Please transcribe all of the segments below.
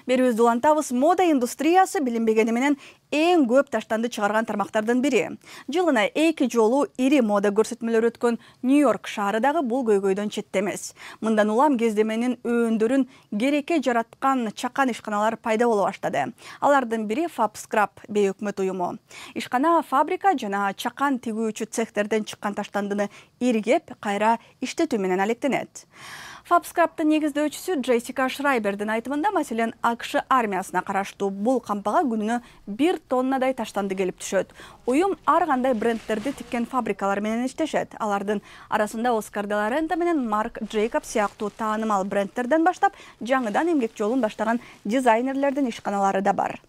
Берүүбүздү улантабыз, мода индустриясы билинбегени менен эң көп таштанды чыгарган тармактардын бири. Жылына 2 жолу ири мода көрсөтмөлөрү өткөн Нью-Йорк шаары дагы бул көйгөйдөн четте эмес. Мындан улам кездеменин өндөрүн керекке жараткан чакан ишканалар пайда боло баштады. Алардын бири Фабскраб бейөкмөт уюму. Ишкана фабрика жана чакан тигүүчү цехтерден чыккан таштандыны иргеп, кайра иштетүү менен алектенет. Фабскрабтын негиздөөчүсү Джессика Шрайбердин айтымында, маселен, АКШ армиясына караштуу бул кампага күнүнө 1 тоннадай таштанды келип түшөт. Уюм ар кандай брендтерди тиккен фабрикалар менен иштешет. Алардын арасында Оскар де ла Рента менен Марк Джейкобс сыяктуу таанымал брендтерден баштап, жаңыдан эмгек жолун баштаган дизайнерлердин ишканалары да бар.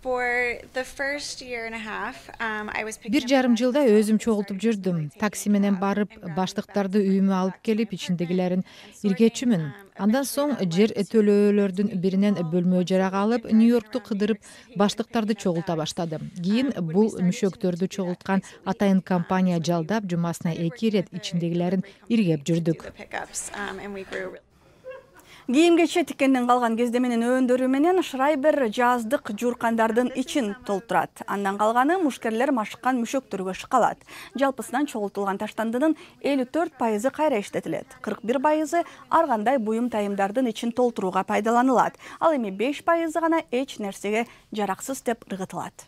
1,5 жылда өзүм чогултуп жүрдүм. Такси менен барып, баштыктарды үйүмө алып келип, ичиндегилерин иргечүмүн. Андан соң жер төлөөлөрдүн биринен бөлмө жарак алып, Нью-Йоркту кыдырып, баштыктарды чогулта баштадым. Кийин бул мүшөктөрдү чогулткан атайын компания жалдап, жумасына 2 ирет ичиндегилерин иргеп жүрдүк. Кийим-кече тиккенден калган кездеменин өндөрү менен Шрайбер жаздык жууркандардын ичин толтурат. Андан калганы мушкерлер машыккан мүшөктөргө шыкалат. Жалпысынан чогултулган таштандынын 54% кайра иштетилет. 41% ар кандай буюм тайымдардын ичин толтурууга пайдаланылат. Ал эми 5% гана эч нерсеге жараксыз деп ыргытылат.